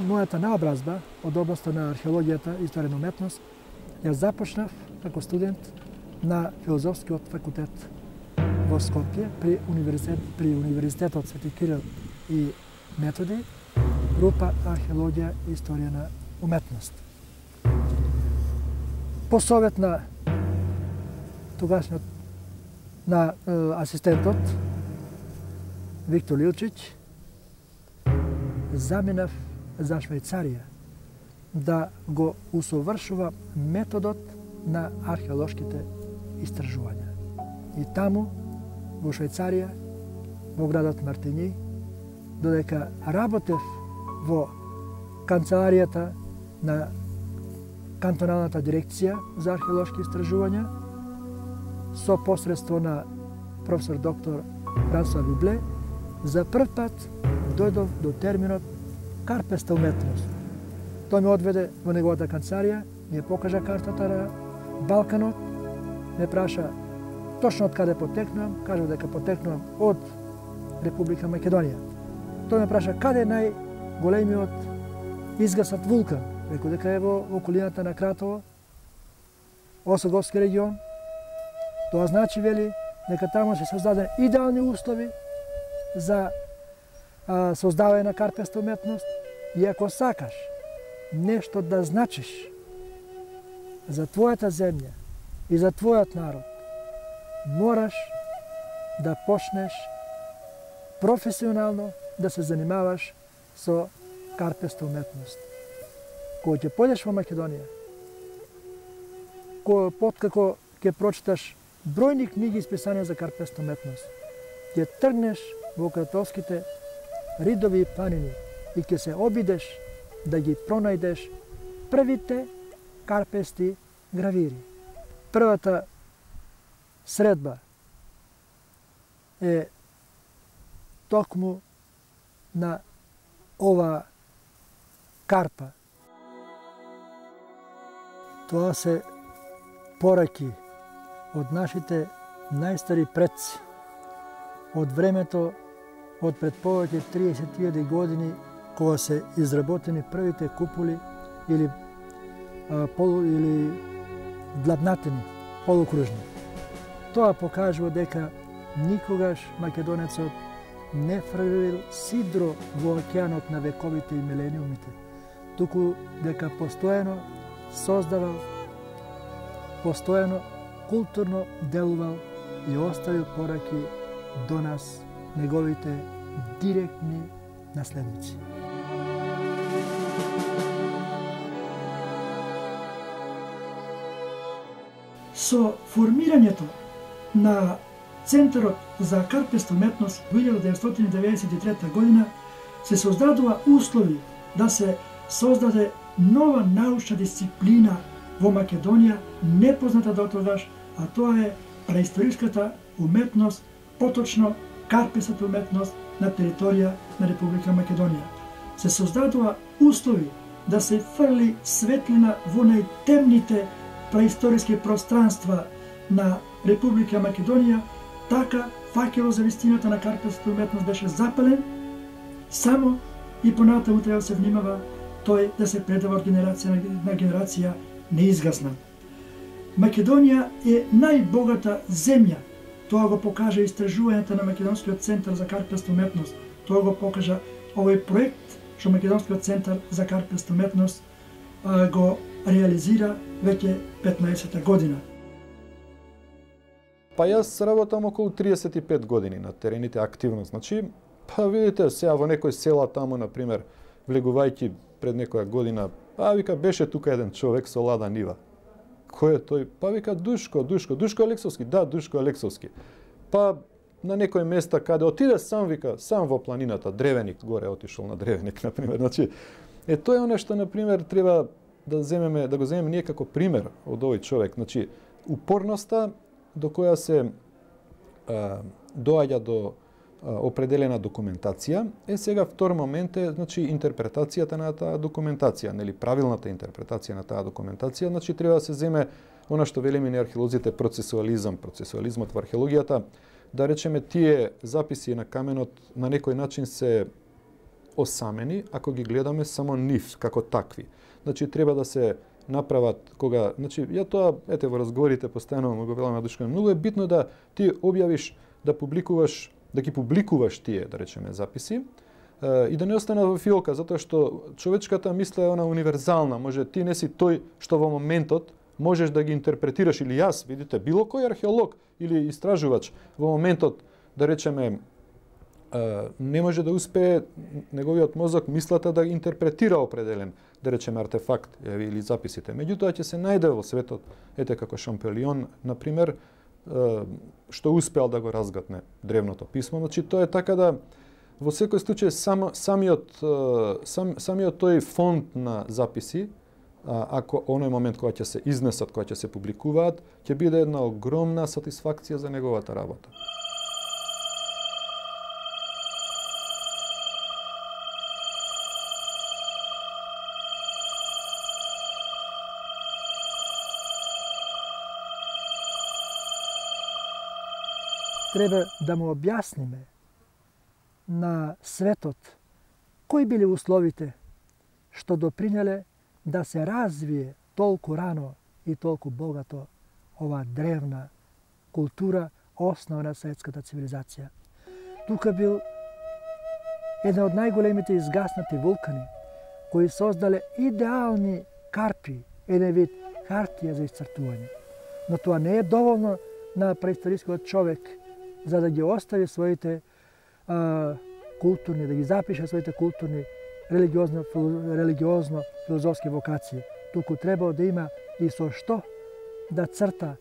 мојата наобразба од областа на археологијата и историја на уметност ја започнав како студент на Филозофскиот факултет во Скопје при универзитетот Свети Кирил и Методи, група археологија и историја на уметност. По совет на тогашниот на асистентот Виктор Лилчич заминав за Швајцарија да го усовршува методот на археолошките истражувања. И таму, во Швајцарија, во градот Мартињи, додека работев во канцеларијата на кантоналната дирекција за археолошки истражувања, со посредство на професор доктор Франсуа Вибле, за прв пат дојдов до терминот карпеста уметност. Тој ме одведе во неговата канцеларија, ми ја покажа картата на Балканот, ме праша точно од каде потекнувам, кажа дека потекнувам од Република Македонија. Тој ме праша каде е најголемиот изгаснат вулкан. Рекол дека е во околината на Кратово, Осоговски регион. Тоа значи, вели, дека таму се создадени идеални услови за создавање на карпеста уметност и ако сакаш нешто да значиш за твојата земја и за твојот народ, мораш да почнеш професионално да се занимаваш со карпеста уметност. Кога ќе појдеш во Македонија, откако ќе прочиташ бројни книги исписани за карпеста уметност, ќе тргнеш во кратовските ридови и планини и ќе се обидеш да ги пронајдеш првите карпести гравири. Првата средба е токму на ова карпа. Тоа се пораки од нашите најстари предци, од времето од пред повеќе 30.000 години, кога се изработени првите куполи или длабнатени, полукружни. Тоа покажува дека никогаш македонецот не фрлил сидро во океанот на вековите и милениумите, туку дека постојано создавал, постојано културно делувал и оставил пораки до нас, неговите директни наследници. Со формирањето на Центарот за карпеста уметност во 1993 година се создадува услови да се создаде нова научна дисциплина во Македонија, непозната дотогаш, а тоа е преисториската уметност, поточно карпестата уметност на територија на Република Македонија. Се создадува услови да се фрли светлина во најтемните преисториски пространства на Република Македонија, така факелот за вистината на карпестата уметност беше запален, само и понатаму треба да се внимава тој да се предава од генерација на генерација неизгасна. Македонија е најбогата земја. Тоа го покажа истражувањето на Македонскиот центар за карпеста уметност. Тоа го покажа овој проект што Македонскиот центар за карпеста уметност го реализира веќе 15-та година. Па јас работам околу 35 години на терените активно. Значи, па видите, сега во некој села таму, например, влегувајќи пред некоја година, вика, беше тука еден човек со лада нива. Кој е тој? Па вика, Душко Алексовски. Да, Душко Алексовски. Па на некој места каде отиде сам, вика, сам во планината, Древеник, горе отишол на Древеник, например. Значи, тоа е нешто, например, треба да го земеме ние како пример од овој човек. Значи, упорноста до која се доаѓа до определена документација, сега втор момент е, значи, интерпретацијата на таа документација, нели, правилната интерпретација на таа документација, значи треба да се земе она што велиме ни археолозите процесуализмот во археологијата, да речеме тие записи на каменот на некој начин се осамени ако ги гледаме само нив како такви. Значи треба да се направат кога, значи ја тоа ете во разговорите постојано го велам на Душко, многу е битно да ти објавиш, да публикуваш, да ги публикуваш тие, да речеме, записи и да не остане во фиолка, затоа што човечката мисла е она универзална, може ти не си тој што во моментот можеш да ги интерпретираш или јас, видите, било кој археолог или истражувач во моментот, да речеме, не може да успее неговиот мозок мислата да интерпретира определен, да речеме, артефакт или записите. Меѓутоа ќе се најде во светот, ете како Шампелион, например, што успеал да го разгатне древното писмо. Значи тоа е така да во секој случај самиот тој фонд на записи, ако оној момент кога ќе се изнесат, кога ќе се публикуваат, ќе биде една огромна сатисфакција за неговата работа. Треба да му објасниме на светот кои били условите што допринеле да се развие толку рано и толку богато ова древна култура, основа на светската цивилизација. Тука бил една од најголемите изгаснати вулкани, кои создале идеални карпи, еден вид хартија за исцртување. Но тоа не е доволно на преисторискиот човек за да ги остави своите културни, да ги запише своите културни, религиозно-филозофски вокации. Туку требало да има и со што да црта,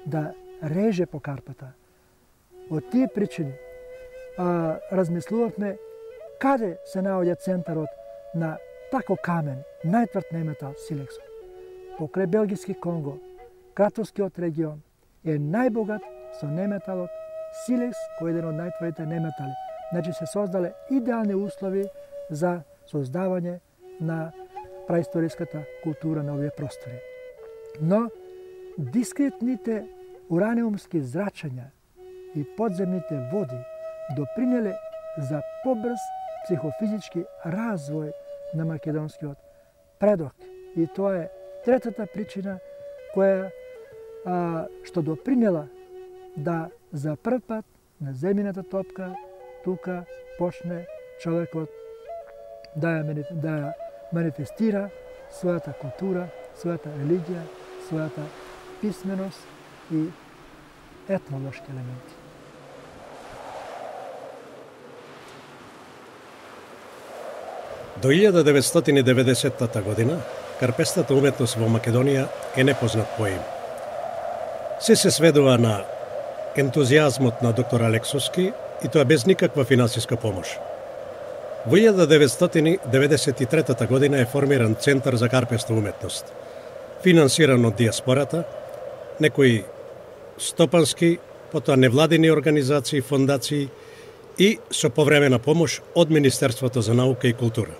да реже по карпата. Од тие причини размислувавме каде се наоѓа центарот на тако камен, најтврд неметал силексот. Покрај Белгиски Конго, Кратовскиот регион е најбогат со неметалот силекс, кој е еден од најтврдите неметали. Значи се создале идеални услови за создавање на праисториската култура на овие простори. Но дискретните ураниумски зрачања и подземните води допринеле за побрз психофизички развој на македонскиот предок. И тоа е третата причина која што допринела да за прв пат на земјината топка тука почне човекот да ја манифестира својата култура, својата религија, својата писменост и етнолошки елементи. До 1990 година карпестата уметност во Македонија е непознат поим. Се сведува на ентузијазмот на доктор Алексовски и тоа без никаква финансиска помош. Во 1993 година е формиран Центар за карпеста уметност, финансиран од диаспората, некои стопански, потоа невладини организации, фондации и со повремена помош од Министерството за наука и култура.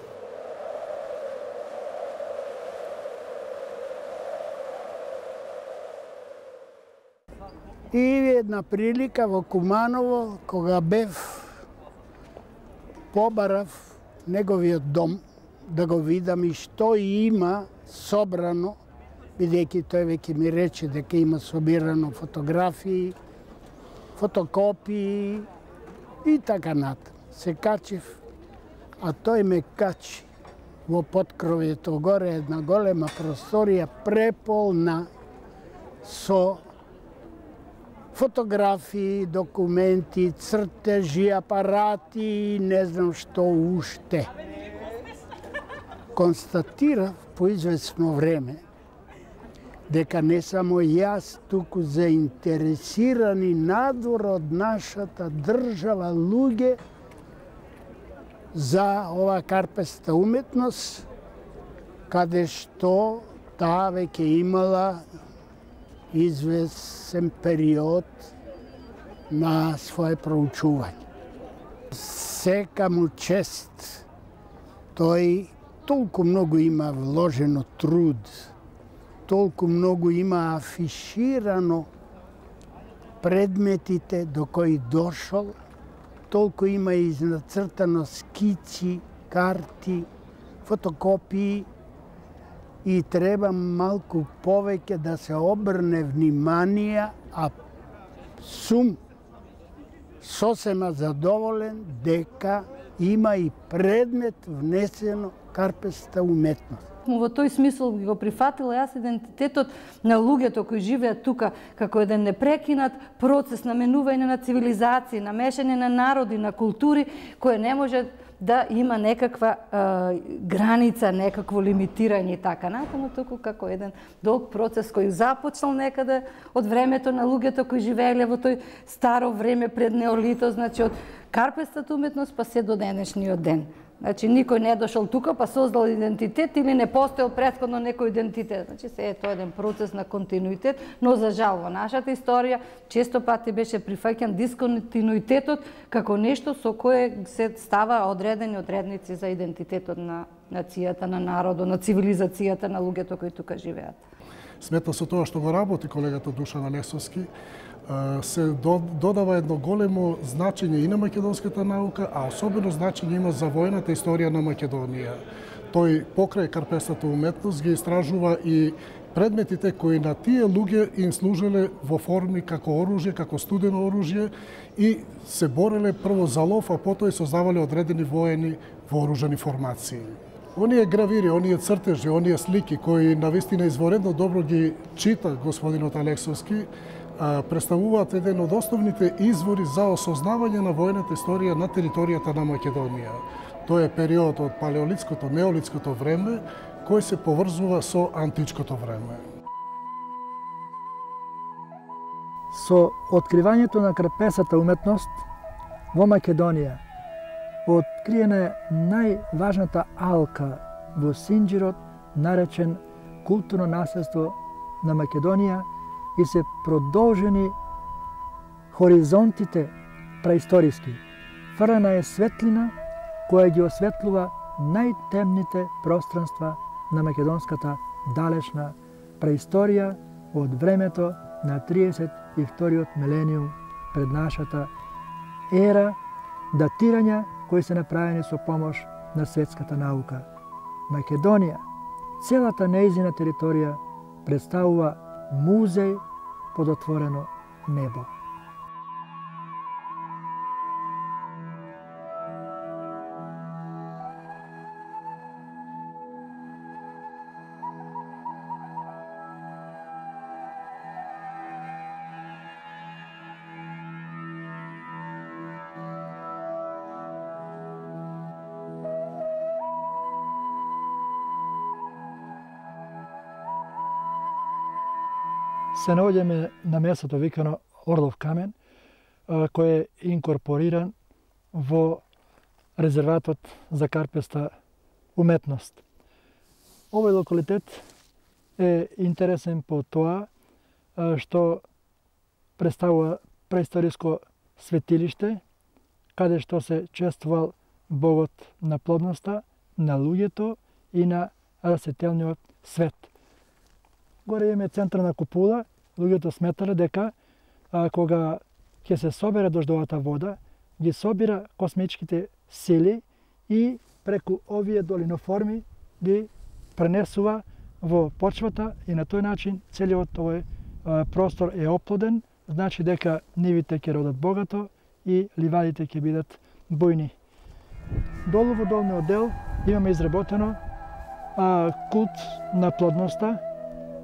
И една прилика во Куманово, кога бев, побарав неговиот дом, да го видам и што има собрано, бидејќи тој веќе ми рече дека има собирано фотографии, фотокопии и така натаму. Се качив, а тој ме качи во поткровјето горе, една голема просторија преполна со фотографии, документи, цртежи, апарати и не знам што уште. Констатирав по известно време дека не само јас, туку заинтересирани надвор од нашата држава луѓе за ова карпеста уметност, каде што таа веќе имала известен период на своје проучување. Сека му чест, тој толку многу има вложено труд, толку многу има афиширано предметите до кои дошол, толку има изнацртано скици карти, фотокопии и треба малку повеќе да се обрне внимание, а сум сосема задоволен дека има и предмет внесено карпеста уметност. Во тој смисол го прифатила јас идентитетот на луѓето кои живеат тука како еден непрекинат процес на менување на цивилизации, на мешање на народи, на култури, кој не може да има некаква граница, некакво лимитирање и така натаму, туку како еден долг процес кој започнал некаде од времето на луѓето кои живееле во тој старо време пред неолитот, значи од карпестата уметност па се до денешниот ден. Значи, никој не е дошол тука, па создал идентитет или не постоел претходно некој идентитет. Значи, се е тоа еден процес на континуитет, но за жал во нашата историја често пати беше прифаќан дисконтинуитетот како нешто со кое се става одредени одредници за идентитетот на нацијата, на народот, на цивилизацијата на луѓето кои тука живеат. Сметно со тоа што го работи колегата Душан Алексовски, се додава едно големо значење и на македонската наука, а особено значење има за војната историја на Македонија. Тој покрај карпестата уметност ги истражува и предметите кои на тие луѓе им служеле во форми како оружје, како студено оружје и се бореле прво за лов, а потоа и создавале одредени воени вооружени формации. Оние гравири, оние цртежи, оние слики кои навистина изворедно добро ги чита господинот Алексовски, представуваат еден од основните извори за осознавање на војната историја на територијата на Македонија. Тоа е период од палеолитското, неолитското време, кој се поврзува со античкото време. Со откривањето на карпесата уметност во Македонија откриена е најважната алка во Синџирот, наречен културно наследство на Македонија, и се продолжени хоризонтите праисториски. Фрлена е светлина која ги осветлува најтемните пространства на македонската далечна преисторија од времето на 32-иот милениум пред нашата ера, датирања кои се направени со помош на светската наука. Македонија, целата нејзина територија представува музеј под отворено небо. Се наоѓаме на местото викано Орлов камен, кој е инкорпориран во резерватот за карпеста уметност. Овој локалитет е интересен по тоа што представува преисториско светилиште, каде што се чествувал богот на плодноста, на луѓето и на растителниот свет. Горе имаме централна купула, луѓето сметале дека кога ќе се собере дождовата вода, ги собира космичките сили и преку овие долиноформи ги пренесува во почвата и на тој начин целиот овој простор е оплоден, значи дека нивите ќе родат богато и ливадите ќе бидат бујни. Долу во долниот дел имаме изработено култ на плодноста,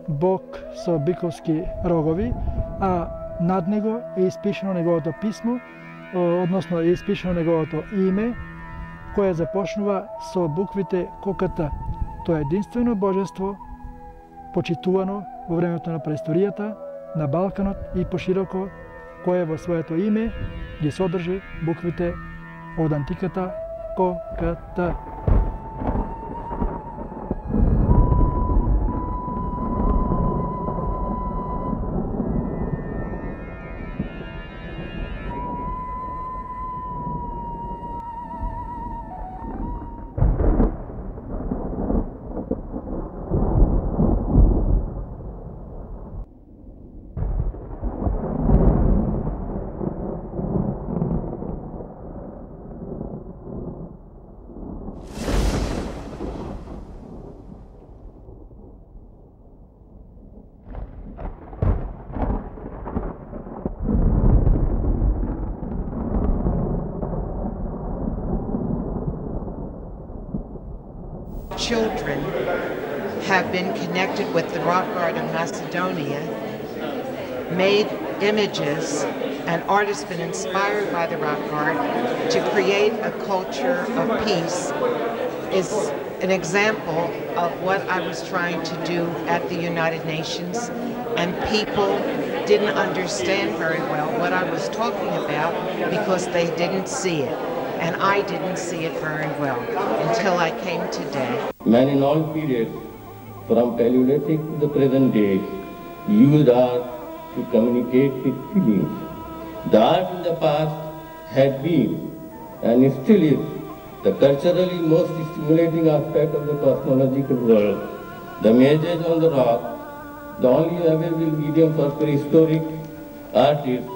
бог со биковски рогови, а над него е испишено неговото писмо, односно е испишено неговото име, кое започнува со буквите ККТ. Тоа е единствено божество, почитувано во времето на преисторијата, на Балканот и пошироко, кое во своето име ги содржи буквите од антиката ККТ. children have been connected with the rock art of Macedonia, made images, and artists been inspired by the rock art to create a culture of peace is an example of what I was trying to do at the United Nations, and people didn't understand very well what I was talking about because they didn't see it, and I didn't see it very well until I came today. Man in all periods, from Paleolithic to the present day, used art to communicate with feelings. The art in the past had been, and still is, the culturally most stimulating aspect of the cosmological world. The images on the rock, the only available medium for prehistoric artists,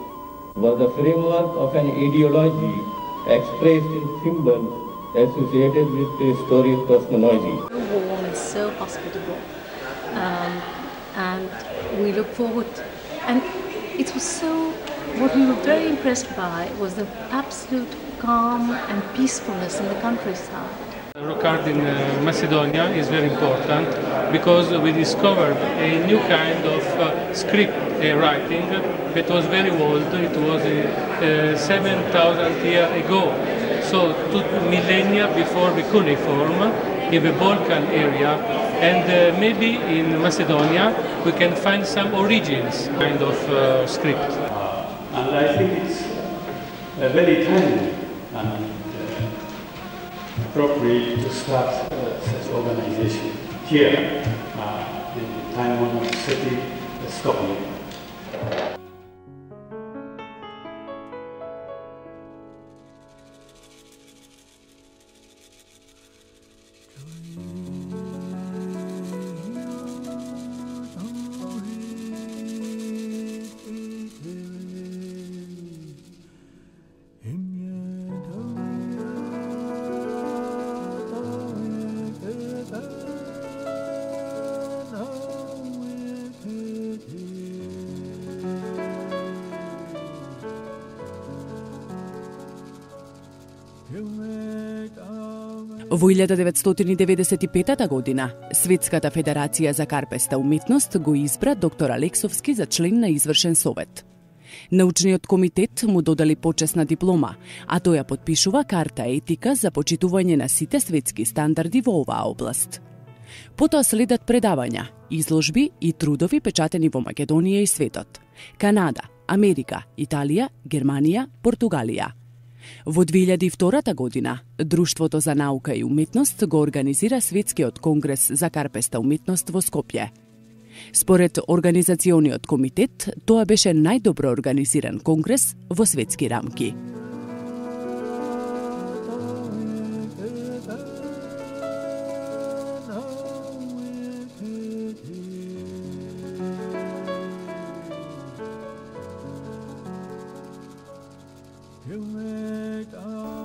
were the framework of an ideology expressed in symbols associated with prehistoric cosmology. Warm is so hospitable, and we look forward. And it was so. What we were very impressed by was the absolute calm and peacefulness in the countryside. Rock art in Macedonia is very important because we discovered a new kind of script writing that was very old. It was 7,000 years ago, so 2 millennia before the cuneiform in the Balkan area, and maybe in Macedonia we can find some origins kind of script. And I think it's very timely and appropriate to start such organization here in the time-honored city of Stockholm. Во 1995 година, Светската федерација за карпеста уметност го избра доктор Алексовски за член на извршен совет. Научниот комитет му додали почесна диплома, а тој ја подпишува карта етика за почитување на сите светски стандарди во оваа област. Потоа следат предавања, изложби и трудови печатени во Македонија и светот, Канада, Америка, Италија, Германија, Португалија. Во 2002 година, Друштвото за наука и уметност го организира Светскиот конгрес за карпеста уметност во Скопје. Според Организациониот комитет, тоа беше најдобро организиран конгрес во светски рамки.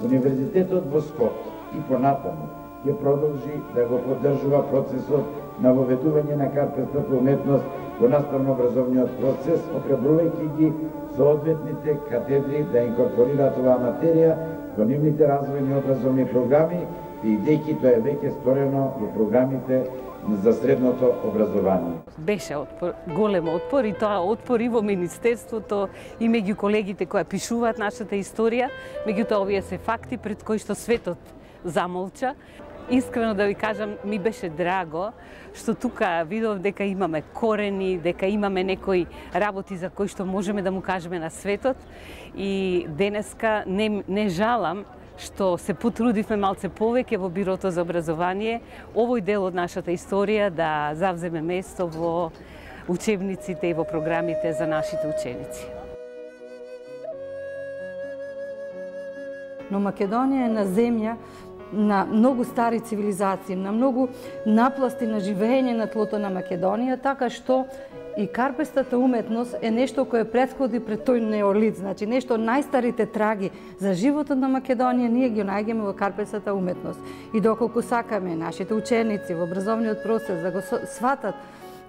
Универзитетот во Скопје и понатаму ќе продолжи да го поддржува процесот на воведување на карпестата уметност во наставно-образовниот процес, опребрувајќи ги соодветните катедри да инкорпорираат оваа материја во нивните развојни образовни програми, бидејќи тоа е веќе сторено во програмите за средното образование. Беше голем отпор и тоа отпор и во Министерството и меѓу колегите кои пишуваат нашата историја, меѓутоа овие се факти пред кои што светот замолча. Искрено да ви кажам, ми беше драго што тука видов дека имаме корени, дека имаме некои работи за кои што можеме да му кажеме на светот, и денеска не жалам што се потрудивме малце повеќе во Бирото за образование, овој дел од нашата историја да завземе место во учебниците и во програмите за нашите ученици. Но Македонија е на земја на многу стари цивилизации, на многу напласти на живење на тлото на Македонија, така што и карпестата уметност е нешто кое претходи пред тој неолит, значи нешто најстарите траги за животот на Македонија ние ги најдеме во карпестата уметност. И доколку сакаме нашите ученици во образовниот процес да го сватат,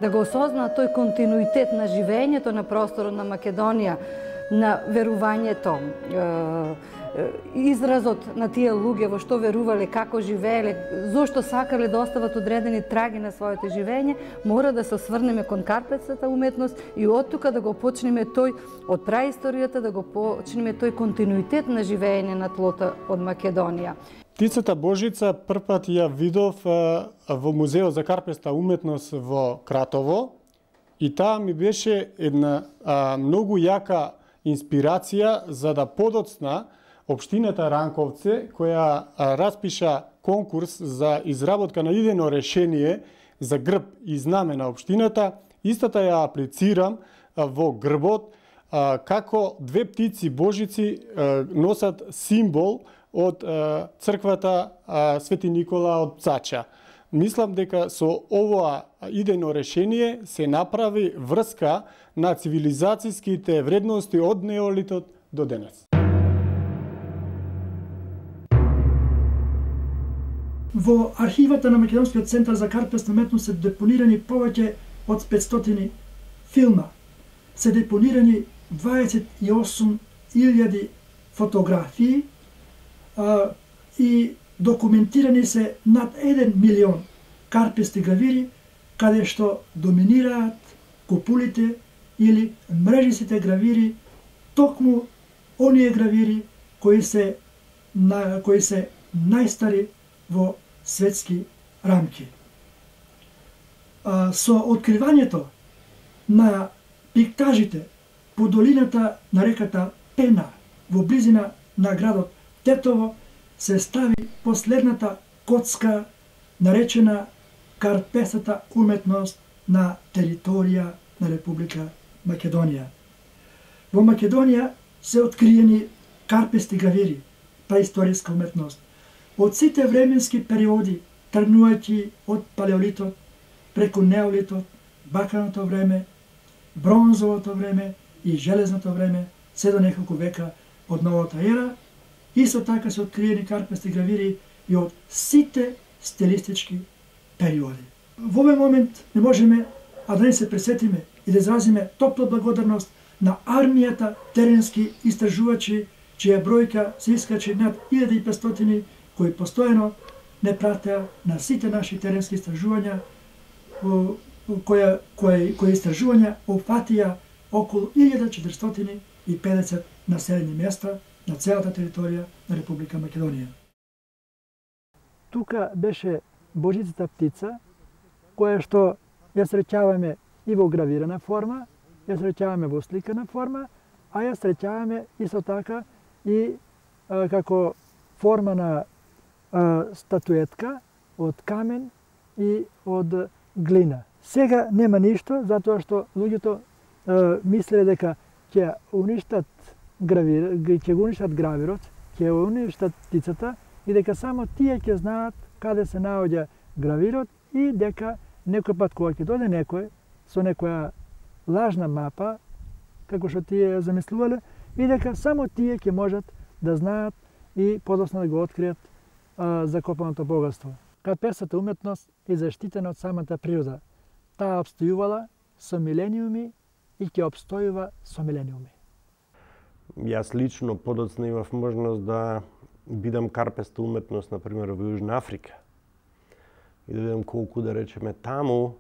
да го осознаат тој континуитет на живењето на просторот на Македонија, на верувањето, изразот на тие луѓе во што верувале, како живееле, зошто сакале да остават одредени траги на своето живење, мора да се осврнеме кон карпетската уметност и од тука да го почнеме тој од праисторијата, да го почнеме тој континуитет на живење на тлото од Македонија. Птицата Божица првпат ја видов во Музеот за карпеста уметност во Кратово и таа ми беше една многу јака инспирација за да подоцна Општината Ранковце, која распиша конкурс за изработка на идејно решение за грб и знаме на општината, истата ја аплицирам во грбот како две птици Божици носат символ од црквата Свети Никола од Пцача. Мислам дека со ова идејно решение се направи врска на цивилизацијските вредности од неолитот до денес. Во архивата на Македонскиот центар за карпесна уметност се депонирани повеќе од 500 филма. Се депонирани 28.000 фотографии и документирани се над 1 милион карпести гравири, каде што доминираат купулите или мрежистите гравири, токму оние гравири кои се најстари во светски рамки. Со откривањето на пиктажите по долината на реката Пена во близина на градот Тетово се стави последната коцка наречена карпестата уметност на територија на Република Македонија. Во Македонија се откриени карпести гравири, праисториска уметност, од сите временски периоди, тргнувајќи од палеолитот, преку неолитот, баканото време, бронзовото време и железното време, се до неколку века од новата ера. Исто така се откриени карпести гравири и од сите стилистички периоди. Во овој момент не можеме а да не се пресетиме и да изразиме топла благодарност на армијата теренски истражувачи, чија бројка се искачи над 1500, кои постојано не пратеа на сите наши теренски истражувања, кои истражувања опфатија околу 1450 населени места на целата територија на Република Македонија. Тука беше Божицата птица, која што ја среќаваме и во гравирана форма, ја среќаваме во сликана форма, а ја среќаваме исто така и како форма на статуетка од камен и од глина. Сега нема ништо, затоа што луѓето мислеле дека ќе уништат гравирот, ќе уништат птицата и дека само тие ќе знаат каде се наоѓа гравирот и дека некој пат кога ќе дојде некој со некоја лажна мапа, како што тие замислувале, и дека само тие ќе можат да знаат и подоцна да го откријат закопаното богатство. Карпестата уметност е заштитена од самата природа. Таа обстојувала со милениуми и ќе обстојува со милениуми. Јас лично подоцна имав можност да бидам карпеста уметност, например, во Јужна Африка. И да видам колку, да речеме, таму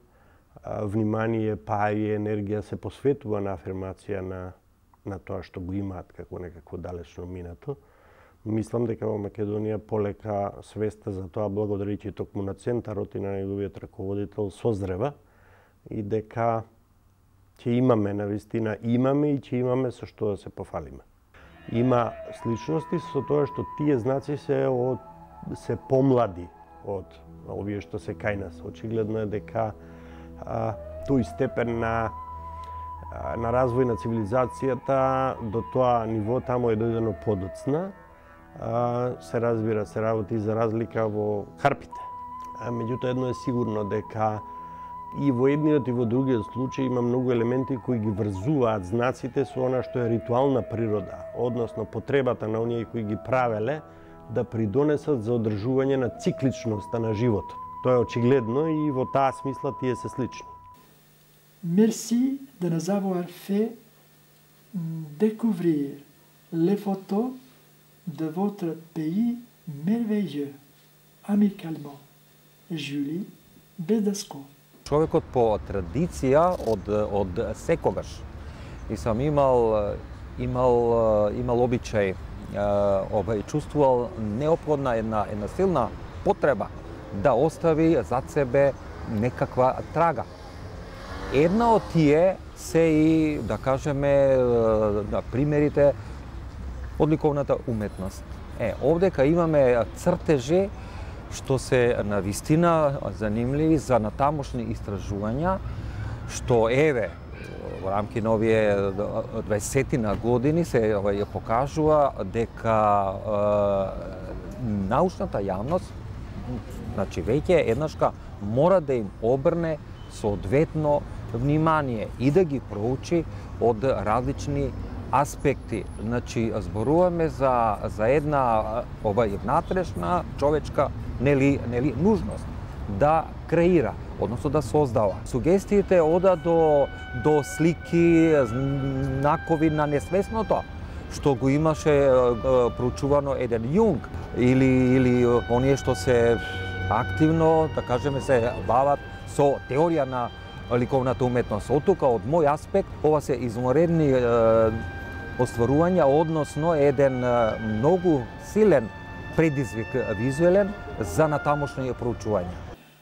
внимание, па и енергија се посветува на афирмација на тоа што го имаат како некакво далечно минато. Мислам дека во Македонија полека свеста за тоа, благодарејќи токму на центарот и на неговиот раководител, созрева и дека ќе имаме, навистина имаме и ќе имаме со што да се пофалиме. Има сличности со тоа што тие знаци се помлади од овие што се кај нас. Очигледно е дека тој степен на развој на цивилизацијата до тоа ниво таму е дојдено подоцна. Се разбира, се работи за разлика во харпите. Меѓутоа едно е сигурно дека и во едниот и во другиот случај има многу елементи кои ги врзуваат знаците со она што е ритуална природа, односно потребата на оние кои ги правеле да придонесат за одржување на цикличноста на животот. Тоа е очигледно и во таа смисла тие се слични. Merci de nous avoir fait découvrir les photos de votre pays merveilleux, amicalement, Julie Bedesco. Човекот по традиција од секогаш и сам имал обичај, чувствувал неопходна една силна потреба да остави зад себе некаква трага. Една од тие се и, да кажеме, примерите од ликовната уметност. Овдека имаме цртежи што се навистина занимливи за натамошни истражувања, што еве во рамки на овие 20 години се покажува дека научната јавност, значи веќе еднашка мора да им обрне соодветно внимание и да ги проучи од различни аспекти. Значи зборуваме за една внатрешна човечка нужност да креира, односно да создава. Сугестиите ода до слики, знакови на несвесното, што го имаше проучувано еден Јунг, или оние што се активно, да кажеме, се бават со теорија на ликовната уметност. Од тука, од мој аспект, ова се изморедни остварувања, односно еден многу силен предизвик визуелен за натамошни проучувања.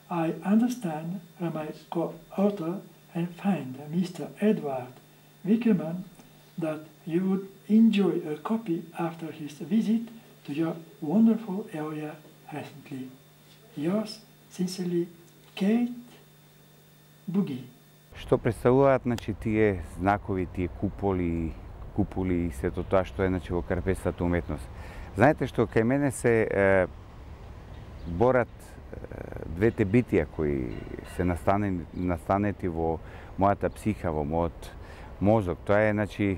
I understand from my co-author and friend, Mr. Edward Wickerman, that you would enjoy a copy after his visit to your wonderful area recently. Yours sincerely, Kate Bugi. Што представуваат, значи, тие знакови, тие куполи и сето тоа што е, значи, во карпестата уметност. Знаете што, кај мене се борат двете битија кои се настанети во мојата психа, во мојот мозок. Тоа е, значи,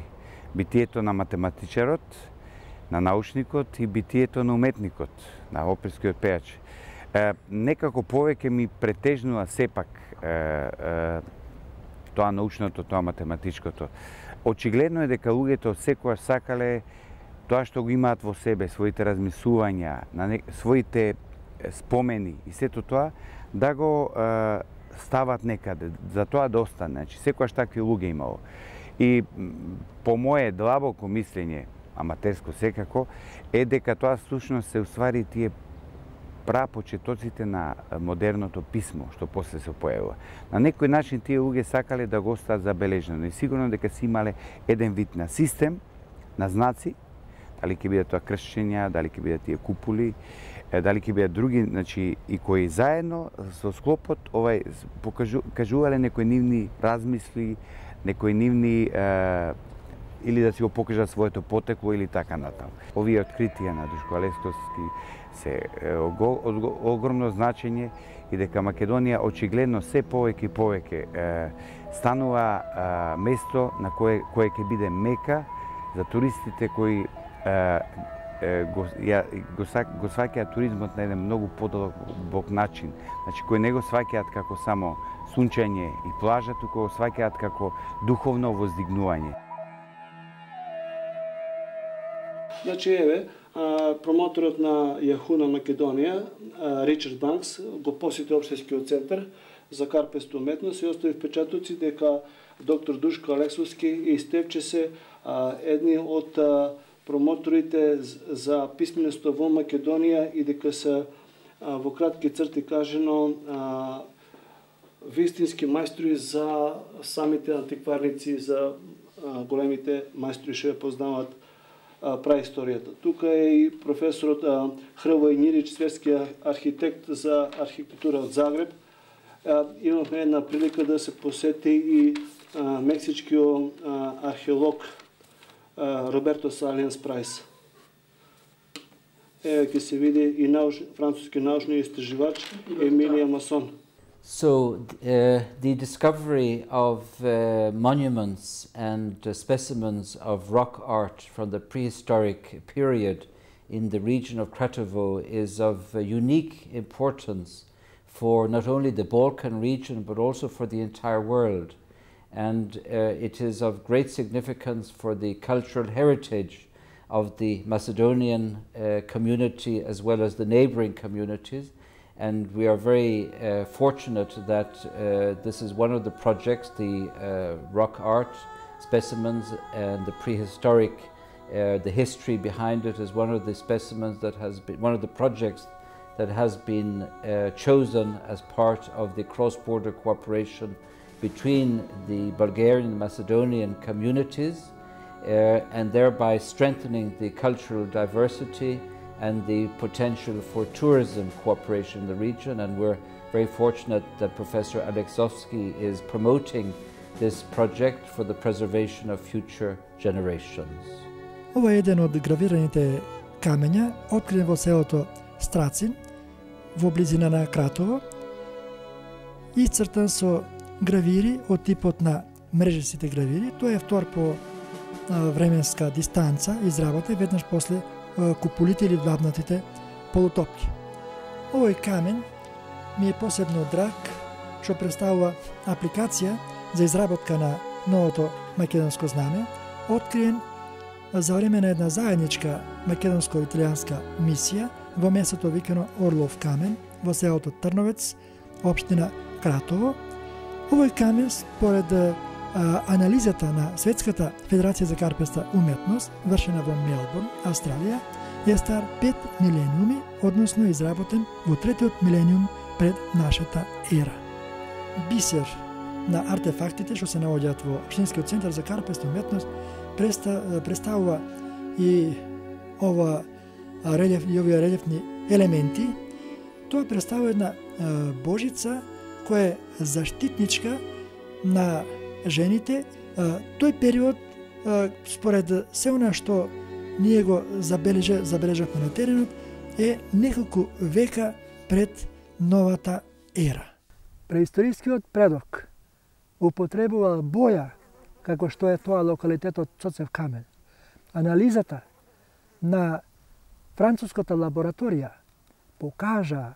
битието на математичарот, на научникот и битието на уметникот, на оперскиот пејач. Некако повеќе ми претежнува сепак тоа научното, тоа математичкото. Очигледно е дека луѓето секогаш сакале тоа што го имаат во себе, своите размислувања, своите спомени и сето тоа, да го стават некаде, за тоа да остане. Значи, секогаш такви луѓе имало. И по моје длабоко мислење, аматерско секако, е дека тоа слушност се уствари тие прапочетоците на модерното писмо, што после се појавува. На некој начин тие луѓе сакале да го остават забележено и сигурно дека си имале еден вид на систем, на знаци, дали ќе бидат тоа кршења, дали ќе бидат тие куполи, дали ќе бидат други, значи, и кои заедно со склопот кажувале некои нивни размисли, некои нивни или да си го покажат своето потекло или така натаму. Овие откритија на Душко Лесковски се огромно значење и дека Македонија очигледно се повеќе и повеќе станува место на кое ќе биде мека за туристите кои го сваќаат туризмот на еден многу подолбок начин. Значи, кои не го сваќаат како само сунчање и плажа, туку го сваќаат како духовно воздигнување. Значи, еве, промоторот на Јаху на Македонија, Ричард Банкс, го посети општинскиот центар за карпеста уметност и остави впечатоци дека доктор Душко Алексовски и Стевче се едни од промоторите за писменоста во Македонија и дека се во кратки црти кажено вистински мајстори за самите антикварници, за големите мајстори што ја познаваат праисторијата. Тука е и професорот Хрвој Њирич, светскиот архитект за архитектура од Загреб. Имавме една прилика да се посети и мексичкиот археолог Роберто Салиенс Прайс. Ќе се види и француски научни истраживач Емилија Масон. So the discovery of monuments and specimens of rock art from the prehistoric period in the region of Kratovo is of unique importance for not only the Balkan region but also for the entire world. And it is of great significance for the cultural heritage of the Macedonian community as well as the neighboring communities. And we are very fortunate that this is one of the projects, the rock art specimens and the prehistoric, the history behind it is one of the specimens that has been, one of the projects that has been chosen as part of the cross-border cooperation between the Bulgarian and Macedonian communities and thereby strengthening the cultural diversity and the potential for tourism cooperation in the region. And we're very fortunate that Professor Aleksovski is promoting this project for the preservation of future generations. Ова е еден од гравираните камења, открит во селото Страцин, во близина на Кратово, исцртан со гравири од типот на мрежестите гравири. Тоа е втор по временска дистанца изработен веднаш после куполите или длабнатите полутопки. Овој камен ми е посебно драг, што представува апликација за изработка на новото македонско знаме, откриен за време на една заедничка македонско-италијанска мисија во местото викано Орлов камен во селото Трновец, општина Кратово. Овој камен, според анализата на Светската федерација за карпеста уметност, вршена во Мелбурн, Австралија, е стар 5 милениуми, односно изработен во третиот милениум пред нашата ера. Бисер на артефактите што се наоѓаат во Општинскиот центар за карпеста уметност представува и овие релефни елементи. Тоа представува една божица која е заштитничка на жените. Тој период, според се она што ние го забележавме на теренот, е неколку века пред новата ера. Преисторискиот предок употребувал боја, како што е тоа локалитетот Цоцев камен. Анализата на француската лабораторија покажа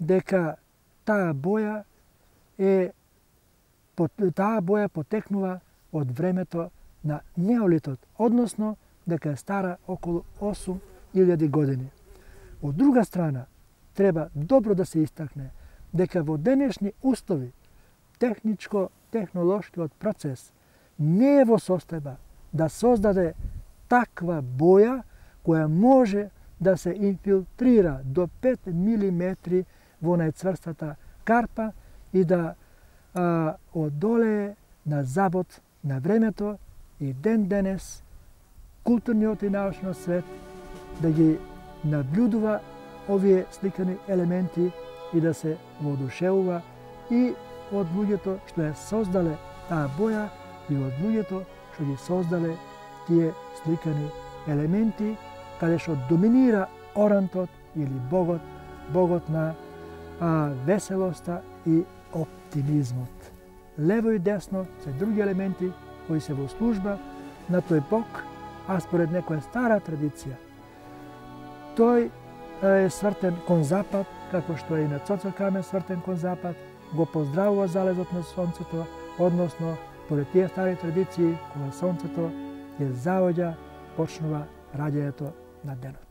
дека таа боја потекнува од времето на неолитот, односно дека е стара околу 8000 години. Од друга страна, треба добро да се истакне дека во денешни услови техничко-технолошкиот процес не е во состојба да создаде таква боја која може да се инфилтрира до 5 мм во најцврстата карпа и да одолее на забот на времето и ден денес културниот и научниот свет да ги наблюдува овие сликани елементи и да се воодушевува и од луѓето што ја создале таа боја и од луѓето што ги создале тие сликани елементи, каде што доминира орантот или богот на веселоста и оптимизмот. Лево и десно се други елементи кои се во служба на тој бог, а според некоја стара традиција, тој е свртен кон запад, како што е и на Цоцев камен свртен кон запад, го поздравува залезот на сонцето, односно, според тие стари традиции, кога сонцето ја заоѓа, почнува раѓањето на денот.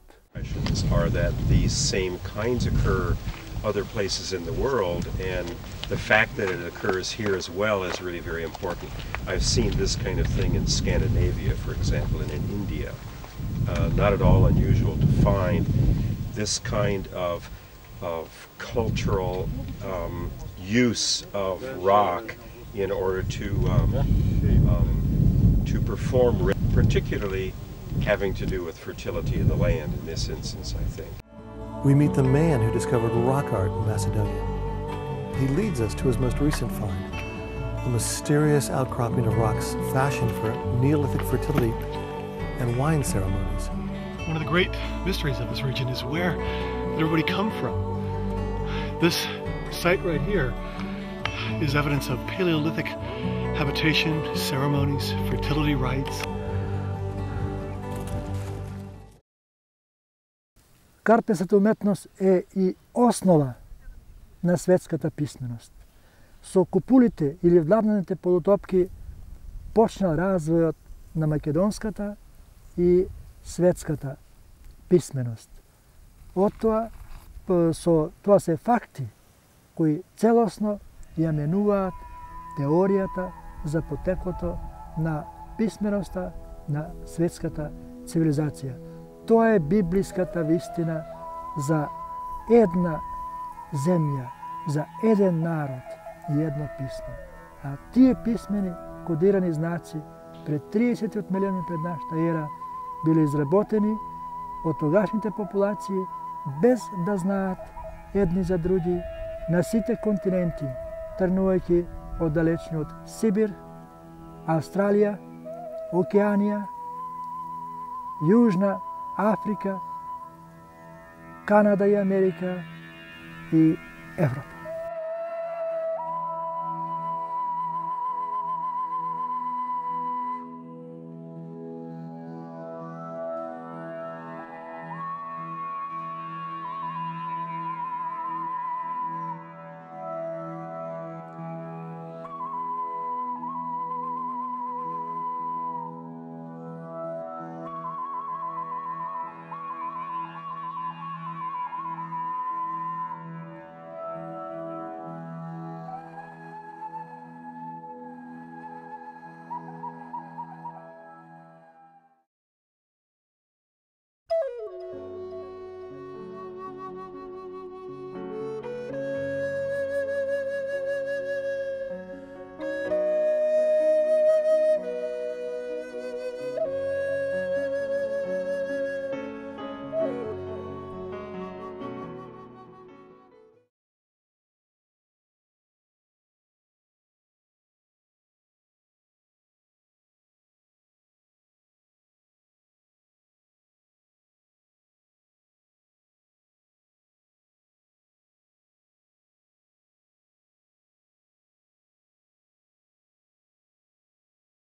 Are that these same kinds occur other places in the world, and the fact that it occurs here as well is really very important. I've seen this kind of thing in Scandinavia, for example, and in India. Not at all unusual to find this kind of cultural use of rock in order to perform, particularly having to do with fertility of the land in this instance, I think. We meet the man who discovered rock art in Macedonia. He leads us to his most recent find, a mysterious outcropping of rocks fashioned for Neolithic fertility and wine ceremonies. One of the great mysteries of this region is where did everybody come from? This site right here is evidence of Paleolithic habitation, ceremonies, fertility rites. Карпесата уметност е и основа на светската писменост. Со купулите или владнаните полутопки почнал развојот на македонската и светската писменост. Од тоа, тоа се факти кои целосно ја менуваат теоријата за потекото на писменоста на светската цивилизација. Тоа е библиската вистина за една земја, за еден народ и едно писмо. А тие писмени кодирани знаци пред 30 милиони пред нашата ера биле изработени од тогашните популации без да знаат едни за други на сите континенти, тргнувајќи од далечниот Сибир, Австралија, Океанија, Јужна Африка, Канада и Америка и Европа.